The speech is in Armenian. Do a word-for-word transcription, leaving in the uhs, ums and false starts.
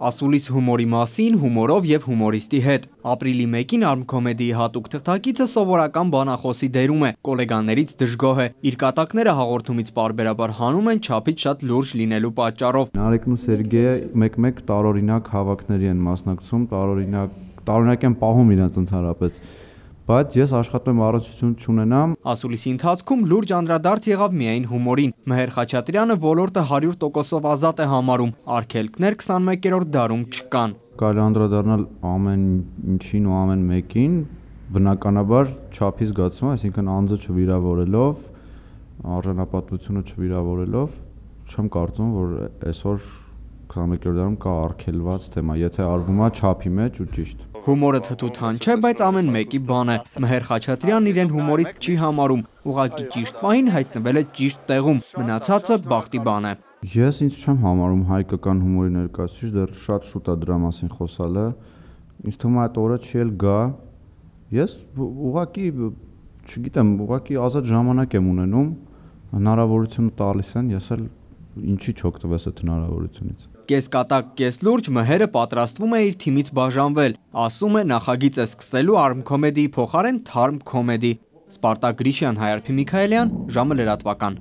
Ասուլիս հումորի մասին, հումորով եւ հումորիստի հետ։ Ապրիլի մեկին Arm Comedy-ի հատուկ թղթակիցը սովորական բանախոսի դերում է, գոլեգաներից դժգոհ է։ Իր կատակները հաղորդումից պարբերաբար հանում են չափից շատ լուրջ լինելու պատճառով։ Նարեկն ու Սերգեյը մեկ-մեկ տարօրինակ հավաքների են մասնակցում, տարօրինակ տարօրինակ են պահում իրենց ընդհանրապես, բայց ես աշխատում եմ առողջություն չունենամ։ Ասուլիսի ընթացքում լուրջ անդրադարձ եղավ միայն հումորին։ Մհեր Խաչատրյանը ոլորտը հարյուր տոկոսով ազատ է համարում, արգելքներ քսանմեկերորդ դարում չկան։ Կարելի անդրադառնալ ամեն ինչին ու ամեն մեկին, բնականաբար չափի զգացում, այսինքն անձը չվիրավորելով, արժանապատվությունը չվիրավորելով, չեմ կարծում, որ այսօր քսանմեկերորդ դարում կա արգելված թեմա, եթե արվում է չափի մեջ ու ճիշտ։ Հումորը թթութան չէ, բայց ամեն մեկի բան է։ Մհեր Խաչատրյանն իրեն հումորիստ չի համարում, ուղղակի ճիշտ պահին հայտնվել է ճիշտ տեղում, մնացածը բախտի բան է։ Ես ինձ չեմ համարում հայկական հումորի ներկայացուցիչ, դեռ շատ շուտ է դրա մասին խոսալը։ Ինձ թվում է այդ օրը չի էլ գա։ Ես ուղղակի, չգիտեմ, ուղղակի ազատ ժամանակ եմ ունենում, հնարավորությունը տալիս են, ես էլ ինչի չօգտվես այդ հնարավորությունից։ Կես կատակ, կես լուրջ Մհերը պատրաստվում է իր թիմից բաժանվել, ասում է նախագիծ է սկսելու Arm Comedy-ի փոխարեն Tharm Comedy։ Սպարտակ Գրիշյան, Հայարփի Միքայելյան, ժամը լրատվական։